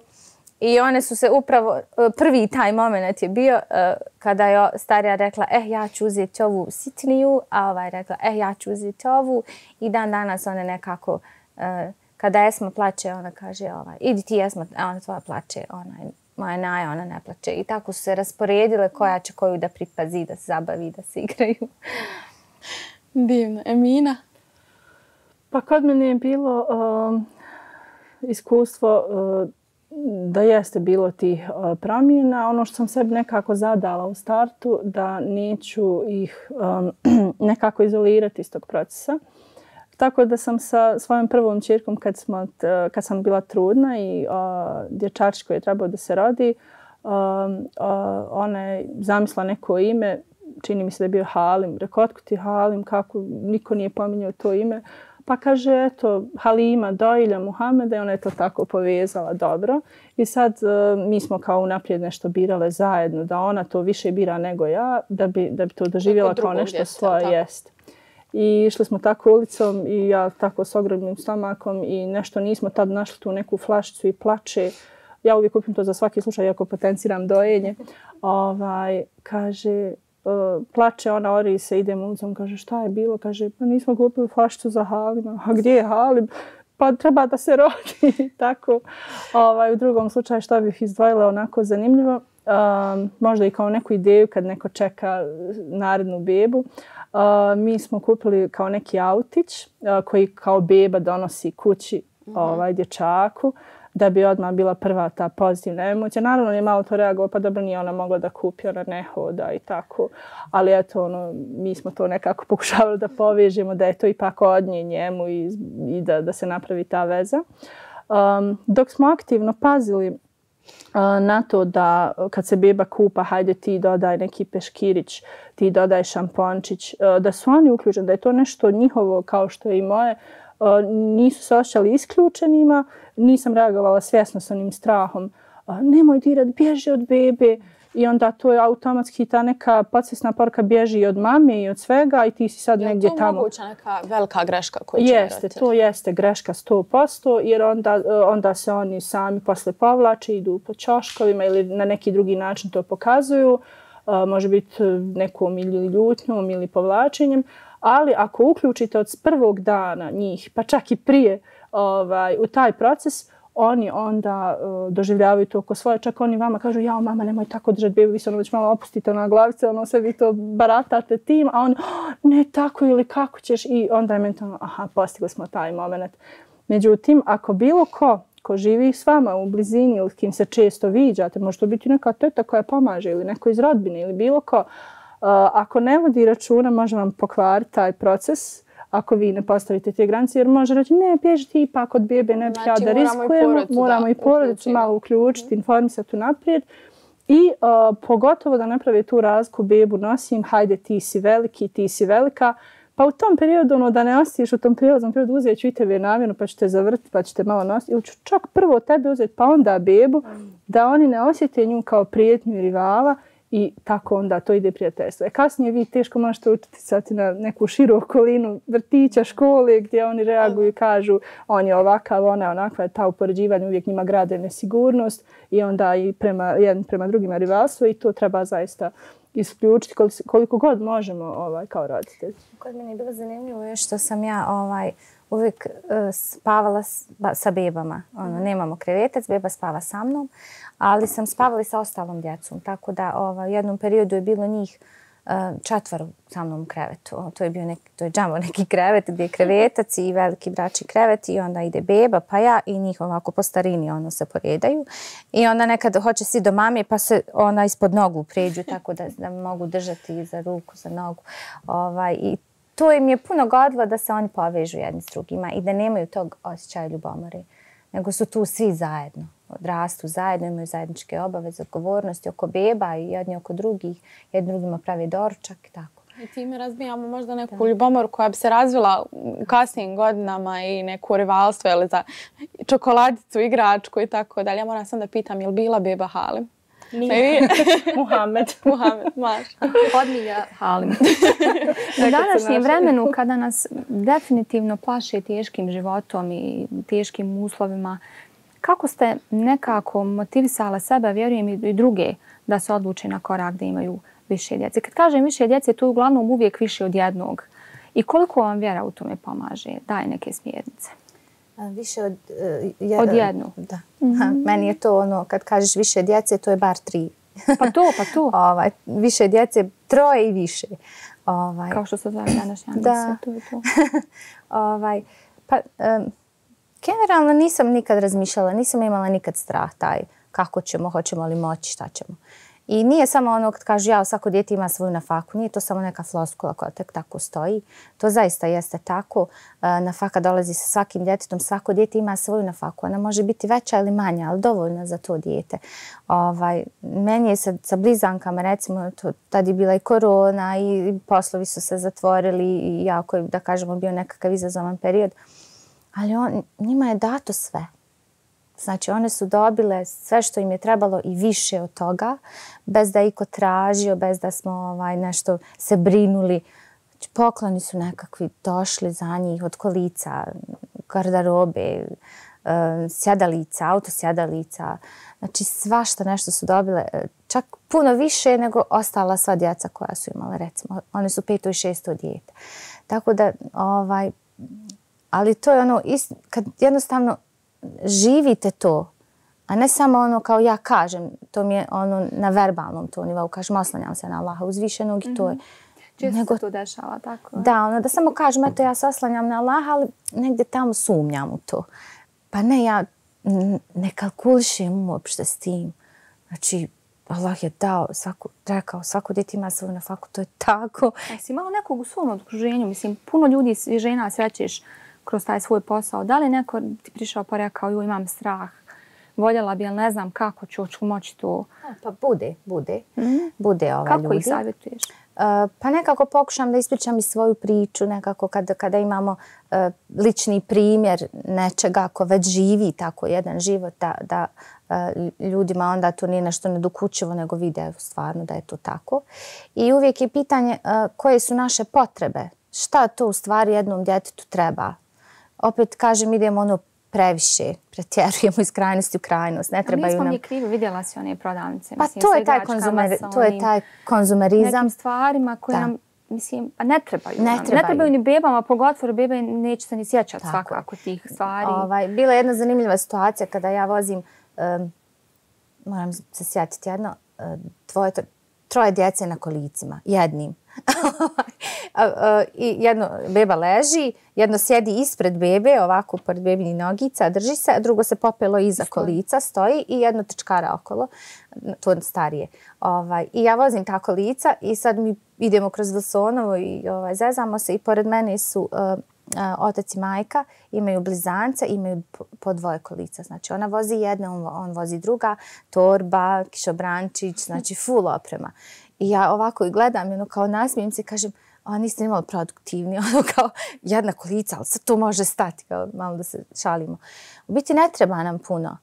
I one su se upravo, prvi taj moment je bio uh, kada je starija rekla, eh, ja ću uzeti ovu sitniju, a ovaj rekla, eh, ja ću uzeti ovu. I dan danas one nekako, uh, kada Esma plače, ona kaže, ovaj, idi ti Esma, a ona tvoja plače, ona je moja Naja, ona ne plače. I tako su se rasporedile koja će koju da pripazi, da se zabavi, da se igraju. Divno. Emina? Pa kod mene je bilo um, iskustvo uh, da jeste bilo tih uh, promjena. Ono što sam sebi nekako zadala u startu, da neću ih um, nekako izolirati iz tog procesa. Tako da sam sa svojom prvom ćerkom kad, smo, kad sam bila trudna i uh, dječačić koji je trebao da se rodi, uh, uh, ona je zamislila neko ime, čini mi se da je bio Halim. Rekao, otkud ti Halim, kako, niko nije pominjao to ime. Pa kaže, eto, Halima, dojilja Muhameda i ona je to tako povezala dobro. I sad uh, mi smo kao unaprijed nešto birale zajedno, da ona to više bira nego ja, da bi, da bi to doživjela kao nešto svoje jest. I išli smo tako ulicom i ja tako s ogromnim stomakom i nešto nismo tad našli tu neku flašicu i plače. Ja uvijek kupim to za svaki slučaj, iako potenciram dojenje. Ovaj, kaže, uh, plače ona, ori se, idem ulicom, kaže, šta je bilo? Kaže, pa nismo kupili flašicu za Halima. A gdje je Halim? Pa treba da se rodi. Tako, ovaj, u drugom slučaju što bih izdvojila onako zanimljivo. Um, možda i kao neku ideju kad neko čeka narednu bebu. Uh, mi smo kupili kao neki autić uh, koji kao beba donosi kući mm-hmm. ovaj, dječaku da bi odmah bila prva ta pozitivna emocija. Naravno je malo to reagovao, pa dobro nije ona mogla da kupi, ona ne hoda i tako. Ali eto, ono, mi smo to nekako pokušavali da povežemo, da je to ipak od nje njemu i, i da, da se napravi ta veza. Um, dok smo aktivno pazili na to da kad se beba kupa, hajde ti dodaj neki peškirić, ti dodaj šampončić, da su oni uključeni, da je to nešto njihovo kao što je i moje, nisu se osjećali isključenima, nisam reagovala svjesno sa onim strahom, nemoj dirat, bježi od bebe. I onda to je automatski ta neka podsvjesna poruka bježi i od mame i od svega i ti si sad je negdje tamo. Je to moguća neka velika greška koju će Jeste, roditelj? To jeste greška sto posto jer onda, onda se oni sami posle povlače, idu po ćoškovima ili na neki drugi način to pokazuju. Uh, može biti nekom ili ljutnjom ili povlačenjem. Ali ako uključite od prvog dana njih, pa čak i prije ovaj, u taj proces, oni onda uh, doživljavaju to oko svoje. Čak oni vama kažu, jao mama, nemoj tako držati bebu, vi se ono već malo opustite na glavice, ono sve vi to baratate tim, a oni, oh, ne tako ili kako ćeš, i onda je mentalno, aha, postigli smo taj moment. Međutim, ako bilo ko, ko živi s vama u blizini ili kim se često viđate, može to biti neka teta koja pomaže ili neko iz rodbine ili bilo ko, uh, ako ne vodi računa, može vam pokvariti taj proces, ako vi ne postavite te granice, jer može reći, ne, bježi ti ipak od bebe, ne bih znači, ja da riskujemo, moramo i porodicu malo uključiti, informisati unaprijed. I uh, pogotovo da naprave tu razliku, bebu nosim, hajde ti si veliki, ti si velika, pa u tom periodu, ono, da ne ostiš u tom prijelaznom periodu, uzet ću i tebe namjerno, pa ćete zavrtiti, pa ćete malo nositi, ili ću čak prvo tebe uzeti, pa onda bebu, da oni ne osjete nju kao prijetnju i rivala, i tako onda to ide prijateljstvo. E kasnije vi teško možete utjecati na neku širu okolinu vrtića, škole gdje oni reaguju i kažu on je ovakav, ona je onakva, ta upoređivanje uvijek njima grade nesigurnost i onda i prema, jedan prema drugima rivalstvo i to treba zaista isključiti koliko, koliko god možemo ovaj, kao roditelji. Kod mene je bilo zanimljivo je što sam ja ovaj, uvijek uh, spavala s, ba, sa bebama. Ono, nemamo krevetac, beba spava sa mnom, ali sam spavala i sa ostalom djecom. Tako da ovaj, u jednom periodu je bilo njih uh, četvoro sa mnom u krevetu. O, to je bio neki, to je džambo neki krevet gdje je krevetac i veliki bračni krevet i onda ide beba pa ja i njih ovako po starini ono se poredaju. I onda nekad hoće svi do mame pa se ona ispod nogu pređu tako da, da mogu držati za ruku, za nogu. Ovaj, i to im je puno godilo da se oni povežu jedni s drugima i da nemaju tog osjećaja ljubomore, nego su tu svi zajedno. Odrastu zajedno, imaju zajedničke obaveze, odgovornosti oko beba i jedni oko drugih, jedni drugima pravi doručak i tako. I time razbijamo možda neku da. ljubomoru koja bi se razvila u kasnijim godinama i neku rivalstvo ili za čokoladicu, igračku i tako dalje. Ja moram sam da pitam, je li bila beba Halim? Nije. Muhammed. Muhammed, maš. Podmilja Halim. U današnjem vremenu kada nas definitivno plaše teškim životom i teškim uslovima, kako ste nekako motivisala sebe, vjerujem i druge, da se odluče na korak da imaju više djece? Kad kažem više djece, to je uglavnom uvijek više od jednog. I koliko vam vjera u tome pomaže? Daj neke smjernice. Više od, uh, je, od jednu. Da. Mm-hmm. Meni je to ono, kad kažeš više djece, to je bar tri. Pa to, pa to. ovaj, više djece, troje i više. Ovaj. Kao što se zove današnja da. To je to. ovaj, pa, um, generalno nisam nikad razmišljala, nisam imala nikad strah taj kako ćemo, hoćemo li moći, šta ćemo. I nije samo ono kad kažu ja, svako dijete ima svoju nafaku, nije to samo neka floskula koja tek tako stoji. To zaista jeste tako. Nafaka dolazi sa svakim djetetom, svako dijete ima svoju nafaku. Ona može biti veća ili manja, ali dovoljna za to dijete. Ovaj, meni je sa, sa blizankama, recimo, to, tad je bila i korona i poslovi su se zatvorili i jako je, da kažemo, bio nekakav izazovan period. Ali on, njima je dato sve. Znači, one su dobile sve što im je trebalo i više od toga, bez da je iko tražio, bez da smo ovaj, nešto se brinuli. Znači, pokloni su nekakvi došli za njih od kolica, garderobe, sjedalica, autosjedalica. Znači, svašta nešto su dobile, čak puno više nego ostala sva djeca koja su imale, recimo. One su peto i šesto dijete. Tako da, ovaj, ali to je ono, kad jednostavno živite to, a ne samo ono kao ja kažem, to mi je ono na verbalnom to nivou, kažem oslanjam se na Allaha uzvišenog i to je. Često nego, se to dešava, tako? Da, ono da samo kažem, eto ja se oslanjam na Allaha, ali negdje tamo sumnjam u to. Pa ne, ja ne kalkulišem uopšte s tim. Znači, Allah je dao, svaku, rekao, svako djete ima svoju nafaku, to je tako. A si imala nekog u svom okruženju, mislim, puno ljudi i žena srećeš kroz taj svoj posao. Da li neko ti prišao pa rekao, jo, imam strah, voljela bi, ali ne znam kako ću, ću moći to? Pa bude, bude. Mm-hmm. Bude ova kako ljudi. Ih savjetuješ? Uh, pa nekako pokušam da ispričam i svoju priču, nekako kada, kada imamo uh, lični primjer nečega, ako već živi tako jedan život, da, da uh, ljudima onda to nije nešto nedokučivo, nego vide stvarno da je to tako. I uvijek je pitanje uh, koje su naše potrebe, šta to u stvari jednom djetetu treba. Opet kažem, idemo ono previše, pretjerujemo iz krajnosti u krajnost. Ne trebaju nam... Nismo mi krivo, vidjela si one prodavnice. Pa mislim, to, je taj konzumer, to je taj konzumerizam. Nekim stvarima koje da. nam, mislim, pa ne trebaju. Ne nam. trebaju. Ne trebaju ni bebama, pogotovo bebe neće se ni sjećati svakako tih stvari. Ovaj, bila je jedna zanimljiva situacija kada ja vozim, um, moram se sjetiti jedno, uh, dvoje, troje djece na kolicima, jednim. I jedno beba leži, jedno sjedi ispred bebe, ovako pored bebinih nogica, drži se, a drugo se popelo iza kolica, stoji i jedno trčkara okolo, to starije. Ovaj, I ja vozim ta kolica i sad mi idemo kroz Wilsonovo i ovaj, zezamo se i pored mene su uh, uh, otac i majka, imaju blizance, imaju po dvoje kolica. Znači ona vozi jedna, on, on vozi druga, torba, kišobrančić, znači full oprema. I ja ovako i gledam, ono, kao nasmijem se, kažem, a niste nimali produktivni, ono kao jedna kolica, ali sad to može stati, kao malo da se šalimo. U biti ne treba nam puno.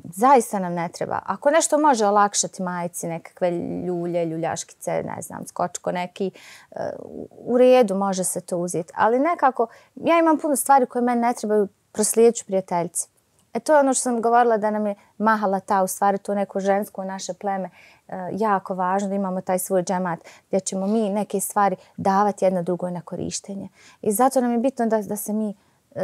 Zaista nam ne treba. Ako nešto može olakšati majci, nekakve ljulje, ljuljaškice, ne znam, skočko neki, u redu može se to uzeti. Ali nekako, ja imam puno stvari koje meni ne trebaju, proslijedit ću prijateljci. E to je ono što sam govorila da nam je mahala ta, u stvari to neko žensko naše pleme, jako važno da imamo taj svoj džemat gdje ćemo mi neke stvari davati jedno drugoj na korištenje. I zato nam je bitno da, da se mi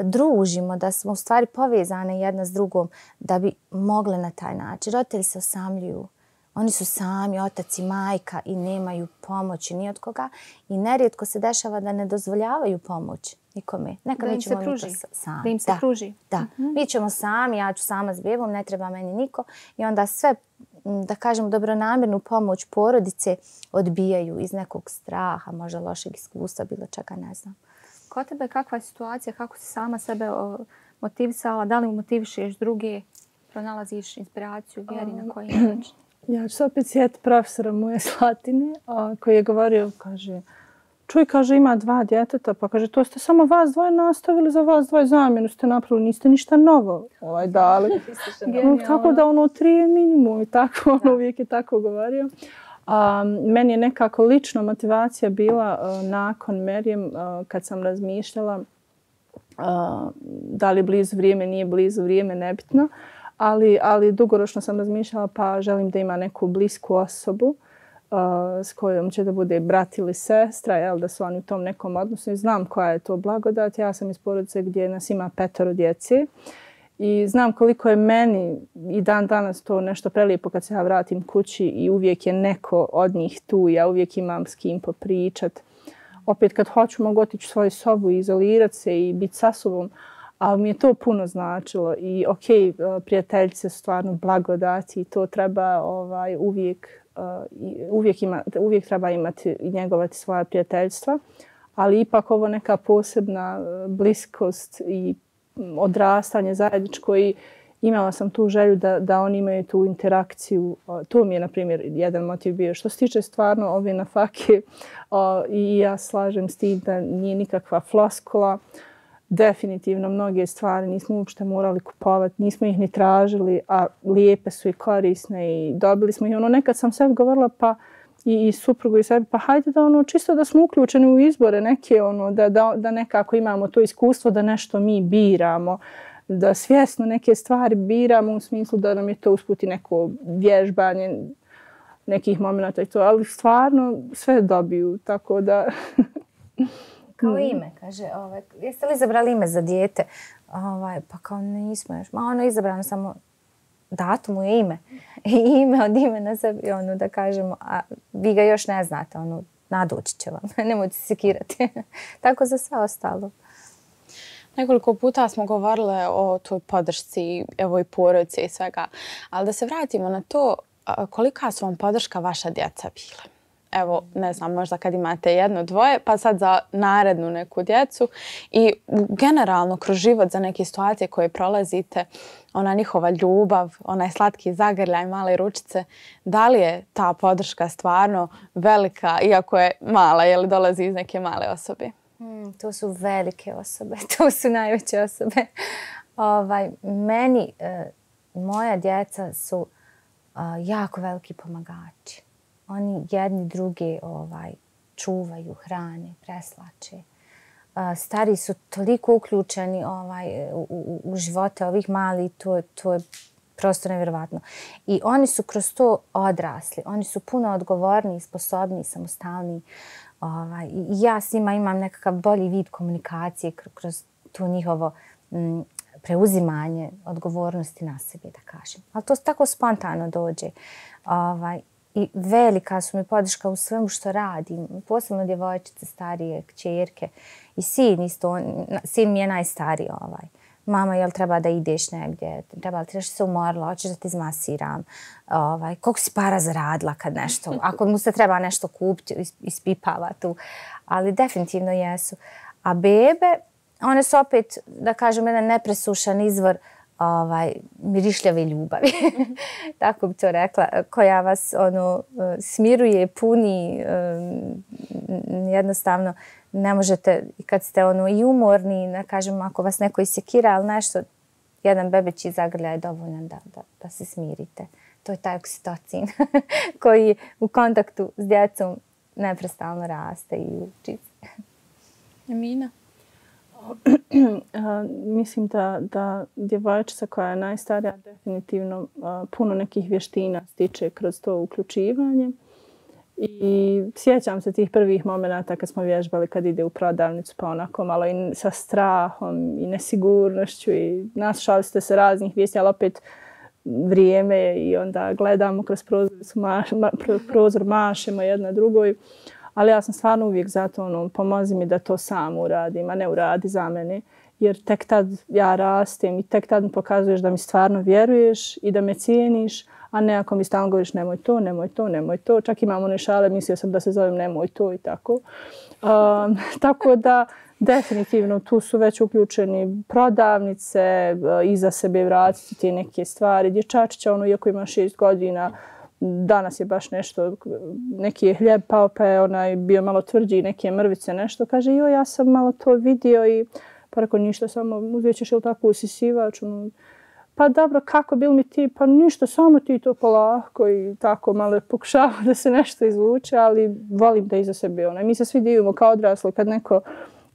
družimo, da smo u stvari povezane jedna s drugom da bi mogle na taj način. Roditelji se osamljuju. Oni su sami, otac i majka i nemaju pomoći ni od koga. I nerijetko se dešava da ne dozvoljavaju pomoć nikome. Nekad da im ćemo se pruži. Mi to sami. Da im se da, pruži. Da. Mm-hmm. Mi ćemo sami, ja ću sama s bebom, ne treba meni niko. I onda sve, da kažem, dobronamjernu pomoć porodice odbijaju iz nekog straha, možda lošeg iskustva, bilo čega, ne znam. Kod tebe kakva je situacija, kako si sama sebe motivisala, da li motivišeš druge, pronalaziš inspiraciju, vjeri na koji način? Ja ću se opet sjetiti profesora moje Slatine koji je govorio, kaže, čuj, kaže, ima dva djeteta, pa kaže, to ste samo vas dvoje nastavili, za vas dvoje zamjenu ste napravili, niste ništa novo ovaj, dali. Tako da ono tri je minimum i tako, ono uvijek je tako govorio. A, meni je nekako lično motivacija bila uh, nakon Merijem uh, kad sam razmišljala uh, da li blizu vrijeme, nije blizu vrijeme, nebitno. Ali, ali dugoročno sam razmišljala pa želim da ima neku blisku osobu uh, s kojom će da bude brat ili sestra, jel, da su oni u tom nekom odnosu. I znam koja je to blagodat. Ja sam iz porodice gdje nas ima petoro djece. I znam koliko je meni i dan danas to nešto prelijepo kad se ja vratim kući i uvijek je neko od njih tu. Ja uvijek imam s kim popričat. Opet kad hoću mogu otići u svoju sobu i izolirati se i biti sa sobom. Ali mi je to puno značilo. I ok, prijateljice su stvarno blagodati i to treba ovaj, uvijek, uh, uvijek, ima, uvijek treba imati i njegovati svoja prijateljstva. Ali ipak ovo neka posebna bliskost i odrastanje zajedničko i imala sam tu želju da, da oni imaju tu interakciju. To mi je, na primjer, jedan motiv bio. Što se tiče stvarno ove na fake i ja slažem s tim da nije nikakva floskula. Definitivno mnoge stvari nismo uopšte morali kupovati, nismo ih ni tražili, a lijepe su i korisne i dobili smo ih. Ono, nekad sam sebi govorila pa i, i suprugu i sebi, pa hajde da ono, čisto da smo uključeni u izbore neke, ono, da, da, da nekako imamo to iskustvo da nešto mi biramo, da svjesno neke stvari biramo u smislu da nam je to usputi neko vježbanje nekih momenta i to, ali stvarno sve dobiju, tako da... Kao ime, kaže, ovaj, jeste li izabrali ime za dijete? Ovaj, pa kao nismo još. Ma ono je izabrano samo datum je ime. I ime od imena sebi, ono da kažemo, a vi ga još ne znate, ono, nadoći će vam. Nemojte se sekirati. Tako za sve ostalo. Nekoliko puta smo govorile o toj podršci, evo i porodice i svega. Ali da se vratimo na to, kolika su vam podrška vaša djeca bile? Evo, ne znam, možda kad imate jedno, dvoje, pa sad za narednu neku djecu i generalno kroz život za neke situacije koje prolazite, ona njihova ljubav, onaj slatki zagrljaj, male ručice, da li je ta podrška stvarno velika, iako je mala, je li dolazi iz neke male osobe? Hmm, to su velike osobe, to su najveće osobe. Ovaj, meni, e, moja djeca su e, jako veliki pomagači. Oni jedni druge ovaj, čuvaju, hrane, preslače. Uh, stari su toliko uključeni ovaj, u, u, u živote ovih mali, to, to je prosto nevjerovatno. I oni su kroz to odrasli. Oni su puno odgovorniji, sposobniji, samostalniji. Ovaj, I ja s njima imam nekakav bolji vid komunikacije kroz to njihovo m, preuzimanje odgovornosti na sebi, da kažem. Ali to tako spontano dođe. Ovaj, I velika su mi podrška u svemu što radim. Posebno djevojčice, starije, kćerke. I sin isto. On, sin mi je najstariji. Ovaj. Mama, jel treba da ideš negdje? Treba li ti nešto se umorila? Hoćeš da ti izmasiram? Ovaj, koliko si para zaradila kad nešto? Ako mu se treba nešto kupiti, ispipava tu. Ali definitivno jesu. A bebe, one su opet, da kažem, jedan nepresušan izvor ovaj, mirišljave ljubavi, tako bi to rekla, koja vas ono, smiruje, puni, um, jednostavno ne možete, kad ste ono, i umorni, ne kažem, ako vas neko isekira, ali nešto, jedan bebeći zagrljaj dovoljan da, da, da se smirite. To je taj oksitocin koji u kontaktu s djecom neprestano raste i uči se. Emina? Mislim da, da djevojčica koja je najstarija definitivno puno nekih vještina stiče kroz to uključivanje. I sjećam se tih prvih momenata kad smo vježbali kad ide u prodavnicu, pa onako malo i sa strahom i nesigurnošću i naslušali ste se raznih vijesti, ali opet vrijeme i onda gledamo kroz prozor, maš, ma, prozor mašemo jedna drugoj. Ali ja sam stvarno uvijek zato ono, pomozi mi da to sam uradim, a ne uradi za mene. Jer tek tad ja rastem i tek tad mi pokazuješ da mi stvarno vjeruješ i da me cijeniš, a ne ako mi stalno govoriš nemoj to, nemoj to, nemoj to. Čak imam one šale, mislio sam da se zovem nemoj to i tako. Um, tako da definitivno tu su već uključeni prodavnice, iza sebe vratiti te neke stvari. Dječačića, ono, iako ima šest godina, danas je baš nešto, neki je hljeb pao pa je onaj bio malo tvrđi, neke mrvice, nešto. Kaže, joj, ja sam malo to vidio i pa rekao, ništa, samo uzet ćeš ili tako usisivač. Ono, pa dobro, kako bil mi ti? Pa ništa, samo ti to polako i tako malo pokušava da se nešto izvuče, ali volim da iza sebe onaj. Mi se svi divimo kao odrasli kad neko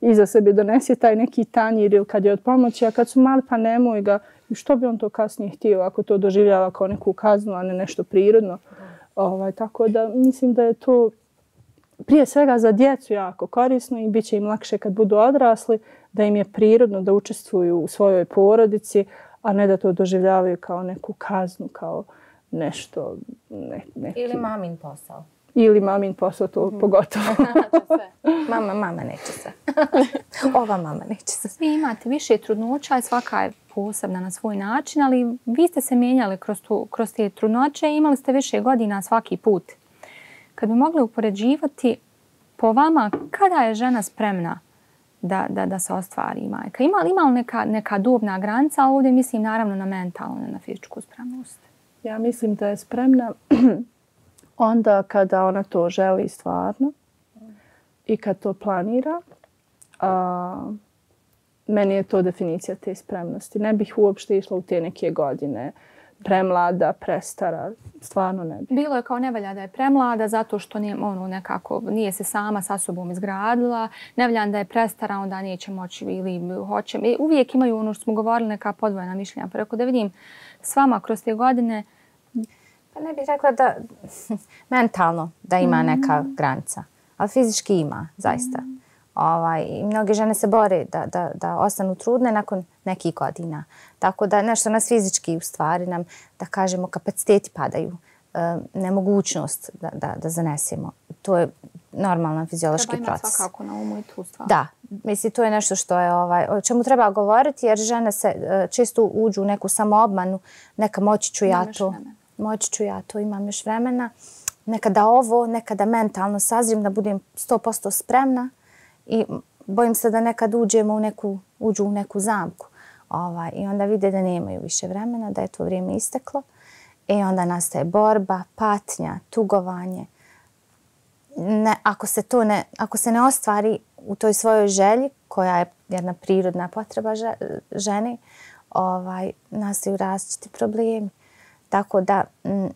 iza sebe donese taj neki tanjir ili kad je od pomoći, a kad su mali pa nemoj ga. I što bi on to kasnije htio ako to doživljava kao neku kaznu, a ne nešto prirodno. Ovaj, tako da mislim da je to prije svega za djecu jako korisno i bit će im lakše kad budu odrasli, da im je prirodno da učestvuju u svojoj porodici, a ne da to doživljavaju kao neku kaznu, kao nešto... Ne, neki... Ili mamin posao. Ili mamin posao, to mm. pogotovo. mama, mama neće se. Ova mama neće se. Svi imate više trudnoća i svaka je posebna na svoj način, ali vi ste se mijenjali kroz, tu, kroz te trudnoće i imali ste više godina svaki put. Kad bi mogli upoređivati po vama, kada je žena spremna da, da, da se ostvari majka? Ima li, ima li neka, neka dobna granica, ali ovdje mislim naravno na mentalnu, ne na fizičku spremnost? Ja mislim da je spremna onda kada ona to želi stvarno i kad to planira. A, meni je to definicija te spremnosti. Ne bih uopšte išla u te neke godine. Premlada, prestara, stvarno ne bi. Bilo je kao nevalja da je premlada zato što nije, ono, nekako, nije se sama sa sobom izgradila. Nevalja da je prestara, onda neće moći ili hoće. I uvijek imaju ono što smo govorili, neka podvojena mišljenja. Pa rekao da vidim s vama kroz te godine... Pa ne bih rekla da mentalno da ima neka granica, ali fizički ima, zaista. Mm. Ovaj, mnoge žene se bore da, da, da ostanu trudne nakon nekih godina. Tako da nešto nas fizički u stvari nam, da kažemo, kapaciteti padaju. E, nemogućnost da, da, da zanesemo. To je normalan fiziološki proces. Treba imati svakako na umu i tu stvar. Da, mislim, to je nešto što je, ovaj, o čemu treba govoriti, jer žene se često uđu u neku samoobmanu, neka moći ću ja to. Moći ću ja to, imam još vremena. Nekada ovo, nekada mentalno sazrim da budem sto posto spremna i bojim se da nekad uđemo u neku, uđu u neku zamku. Ovaj, I onda vide da nemaju više vremena, da je to vrijeme isteklo. I onda nastaje borba, patnja, tugovanje. Ne, ako, se to ne, ako se ne ostvari u toj svojoj želji, koja je jedna prirodna potreba žene, ovaj, nastaju različiti problemi. Tako da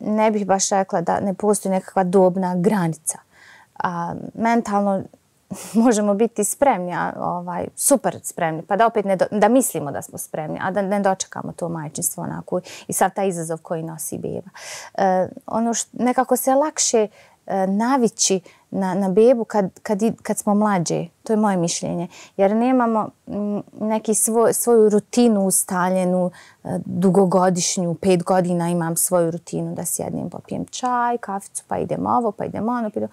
ne bih baš rekla da ne postoji nekakva dobna granica. A, mentalno možemo biti spremni, a, ovaj, super spremni, pa da opet ne do, da mislimo da smo spremni, a da ne dočekamo to majčinstvo onako i sav taj izazov koji nosi beba. E, ono što nekako se lakše e, navići na, na bebu kad, kad, kad smo mlađe. To je moje mišljenje. Jer nemamo m, neki svoj, svoju rutinu ustaljenu, e, dugogodišnju, pet godina imam svoju rutinu da sjednem, popijem čaj, kaficu, pa idem ovo, pa idem ono. Pa, idem.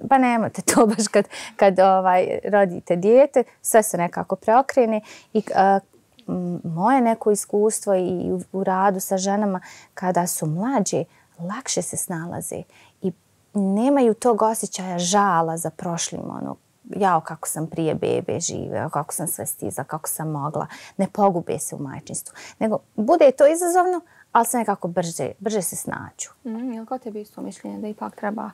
Pa nemate to baš kad, kad ovaj, rodite dijete. Sve se nekako preokrene. I e, m, moje neko iskustvo i u, u radu sa ženama kada su mlađe, lakše se snalaze. I nemaju tog osjećaja žala za prošlim, ono, jao kako sam prije bebe živela, kako sam sve stiza, kako sam mogla. Ne pogube se u majčinstvu. Nego bude to izazovno, ali se nekako brže, brže se snađu. Mm, je li kod tebi isto mišljenje da ipak treba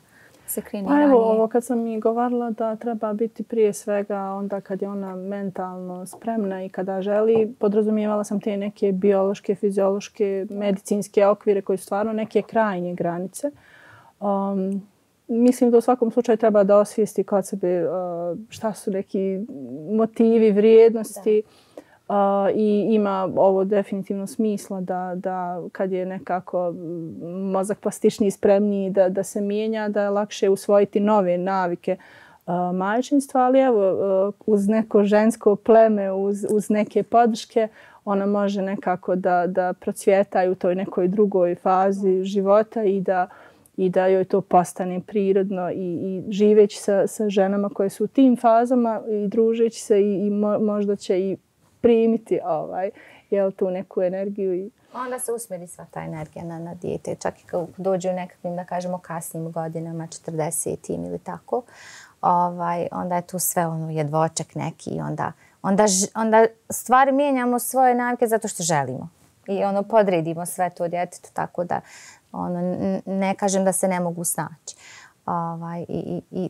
se krene Pa ranije? evo, ovo kad sam mi govorila da treba biti prije svega onda kad je ona mentalno spremna i kada želi, podrazumijevala sam te neke biološke, fiziološke, medicinske okvire koji su stvarno neke krajnje granice. Um, mislim da u svakom slučaju treba da osvijesti kod sebe uh, šta su neki motivi, vrijednosti. Uh, I ima ovo definitivno smisla da, da kad je nekako mozak plastičniji, spremniji da, da se mijenja, da je lakše usvojiti nove navike uh, majčinstva, ali evo uh, uz neko žensko pleme, uz, uz neke podrške, ona može nekako da, da procvjeta u toj nekoj drugoj fazi života i da, i da joj to postane prirodno i, i živeći sa, sa ženama koje su u tim fazama i družeći se i, i mo, možda će i primiti ovaj, jel, tu neku energiju. I... Onda se usmjeri sva ta energija na, na dijete. Čak i kad dođe u nekakvim, da kažemo, kasnim godinama, četrdesetim ili tako, ovaj, onda je tu sve ono jedvočak neki i onda, onda, onda stvari mijenjamo svoje navike zato što želimo. I ono podredimo sve to djetetu, tako da ono, ne kažem da se ne mogu snaći. Ovaj, i, i, i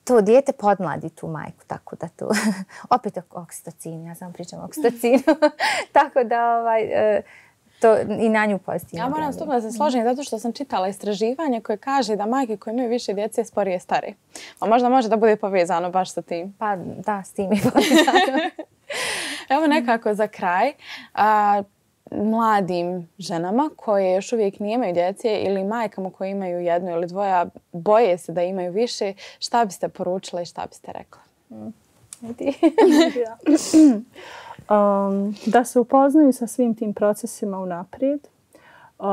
to dijete podmladi tu majku, tako da tu, opet oksitocin, ja samo pričam o oksitocinu, tako da ovaj, to i na nju pozitivno. Ja moram stupno da se složim zato što sam čitala istraživanje koje kaže da majke koje imaju više djece sporije stare. A možda može da bude povezano baš sa tim. Pa da, s tim je povezano. Evo nekako za kraj. A, mladim ženama koje još uvijek nemaju djece ili majkama koje imaju jedno ili dvoje, boje se da imaju više, šta biste poručila i šta biste rekla? Mm. um, da se upoznaju sa svim tim procesima unaprijed uh,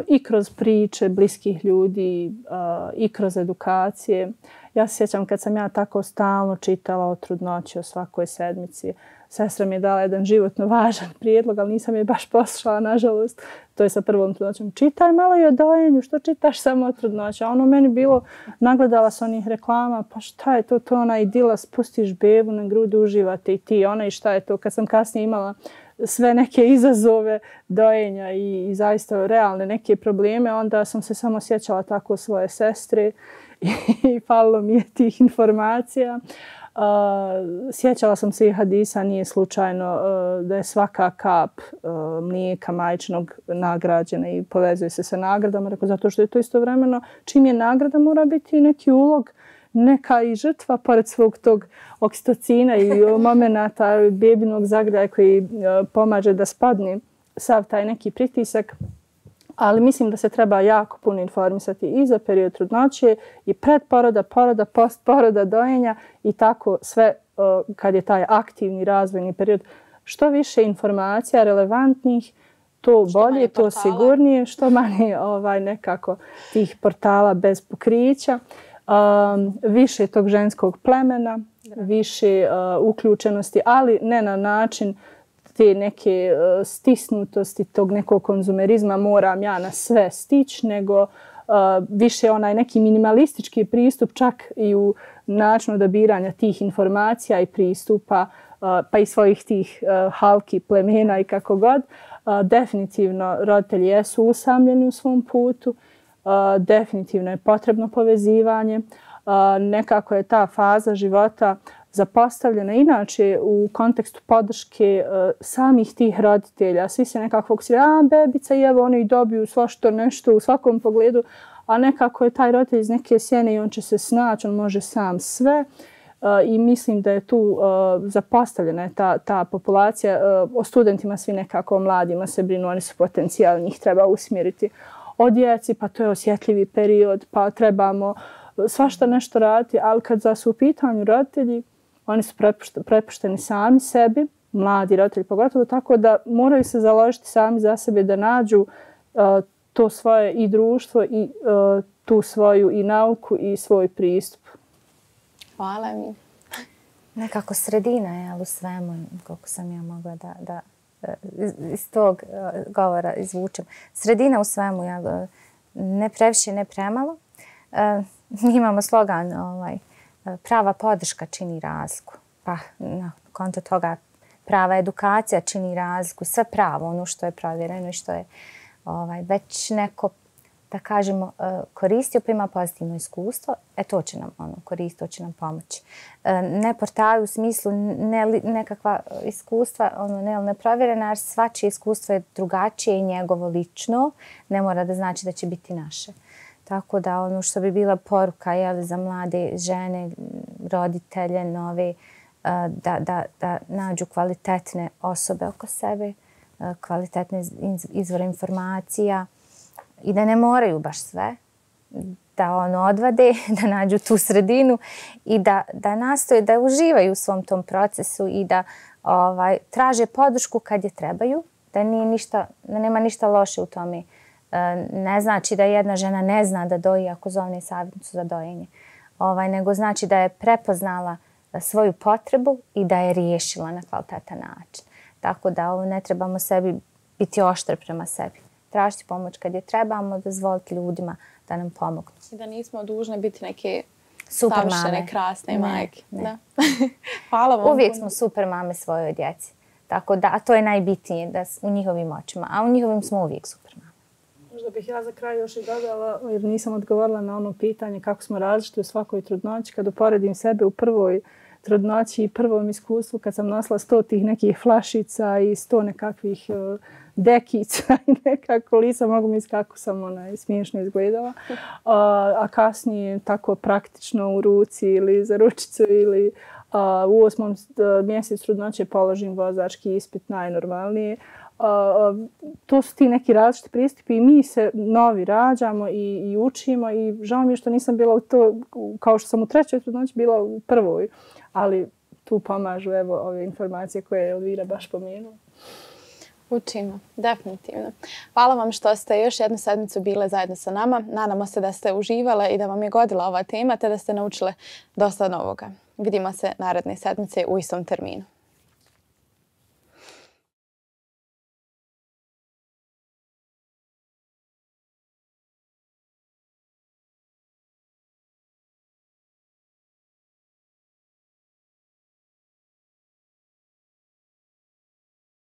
i kroz priče bliskih ljudi uh, i kroz edukacije. Ja se sjećam kad sam ja tako stalno čitala o trudnoći, o svakoj sedmici. Sestra mi je dala jedan životno važan prijedlog, ali nisam je baš poslušala, nažalost. To je sa prvom trudnoćom. Čitaj malo i o dojenju, što čitaš samo o trudnoći? A ono meni bilo, nagledala sam onih reklama, pa šta je to, to ona idila, spustiš bebu na grudu, uživate i ti, ona i šta je to. Kad sam kasnije imala sve neke izazove dojenja i, i zaista realne neke probleme, onda sam se samo sjećala tako svoje sestre i, i falilo mi je tih informacija. Uh, sjećala sam se i hadisa, nije slučajno uh, da je svaka kap uh, mlijeka majčinog nagrađena i povezuje se sa nagradama. Rekao, zato što je to istovremeno, čim je nagrada mora biti neki ulog, neka i žrtva pored svog tog oksitocina i momenata bebinog zagrljaja koji uh, pomaže da spadne sav taj neki pritisak. Ali mislim da se treba jako puno informisati i za period trudnoće i pred poroda, poroda, post poroda, dojenja i tako sve uh, kad je taj aktivni razvojni period. Što više informacija relevantnih, to što bolje, to sigurnije, što manje ovaj, nekako tih portala bez pokrića. Um, više tog ženskog plemena, više uh, uključenosti, ali ne na način te neke uh, stisnutosti, tog nekog konzumerizma, moram ja na sve stići, nego uh, više onaj neki minimalistički pristup čak i u načinu odabiranja tih informacija i pristupa, uh, pa i svojih tih uh, halki, plemena i kako god. Uh, definitivno roditelji jesu usamljeni u svom putu, uh, definitivno je potrebno povezivanje. Uh, nekako je ta faza života zapostavljena inače u kontekstu podrške uh, samih tih roditelja. Svi se nekako fokusiraju, a bebica i evo oni dobiju svašto nešto u svakom pogledu, a nekako je taj roditelj iz neke sjene i on će se snaći, on može sam sve. Uh, I mislim da je tu uh, zapostavljena ta, ta populacija. Uh, o studentima svi nekako, o mladima se brinu, oni su potencijali, njih treba usmjeriti. O djeci, pa to je osjetljivi period, pa trebamo svašta nešto raditi, ali kad za su u pitanju roditelji, oni su prepušteni sami sebi, mladi roditelji pogotovo, tako da moraju se založiti sami za sebe da nađu uh, to svoje i društvo i uh, tu svoju i nauku i svoj pristup. Hvala mi. Nekako sredina je, ali u svemu, koliko sam ja mogla da, da iz, iz tog uh, govora izvučem. Sredina u svemu, ja, ne previše, ne premalo. Uh, mi imamo slogan, ovaj, prava podrška čini razliku. Pa na konto toga prava edukacija čini razliku. Sve pravo, ono što je provjereno i što je ovaj, već neko da kažemo, koristio pa ima pozitivno iskustvo, e to će nam ono, koristiti, to će nam pomoći. Ne portali u smislu ne, nekakva iskustva, ono, ne, neprovjerena, jer svačije iskustvo je drugačije i njegovo lično, ne mora da znači da će biti naše. Tako da ono što bi bila poruka jeli, za mlade žene, roditelje, nove, da, da, da nađu kvalitetne osobe oko sebe, kvalitetne izvore informacija i da ne moraju baš sve, da ono odvade, da nađu tu sredinu i da, da nastoje da uživaju u svom tom procesu i da ovaj, traže podršku kad je trebaju, da, nije ništa, da nema ništa loše u tome. Ne znači da jedna žena ne zna da doji ako zovne savjetnicu za dojenje, ovaj, nego znači da je prepoznala svoju potrebu i da je riješila na kvalitetan način. Tako da ovo ne trebamo sebi biti oštri prema sebi. Tražiti pomoć kad je trebamo, dozvoliti ljudima da nam pomognu. I da nismo dužne biti neke super savršene, mame. krasne Ne, majke. ne. Da. Hvala vam. Uvijek puno. smo super mame svojoj djeci. Tako da, a to je najbitnije da s- u njihovim očima. A u njihovim smo uvijek super mame. Možda bih ja za kraj još i dodala, jer nisam odgovorila na ono pitanje kako smo različiti u svakoj trudnoći. Kad uporedim sebe u prvoj trudnoći i prvom iskustvu, kad sam nosila sto tih nekih flašica i sto nekakvih uh, dekica i nekako lisa, mogu misliti kako sam onaj, smiješno izgledala. Uh, a kasnije tako praktično u ruci ili za ručicu ili uh, u osmom uh, mjesecu trudnoće položim vozački ispit najnormalnije. Uh, to su ti neki različiti pristupi i mi se novi rađamo i, i učimo i žao mi je što nisam bila u to, kao što sam u trećoj trudnoći bila u prvoj, ali tu pomažu evo ove informacije koje je Elvira baš pomenula. Učimo, definitivno. Hvala vam što ste još jednu sedmicu bile zajedno sa nama. Nadamo se da ste uživale i da vam je godila ova tema te da ste naučile dosta novoga. Vidimo se naredne sedmice u istom terminu.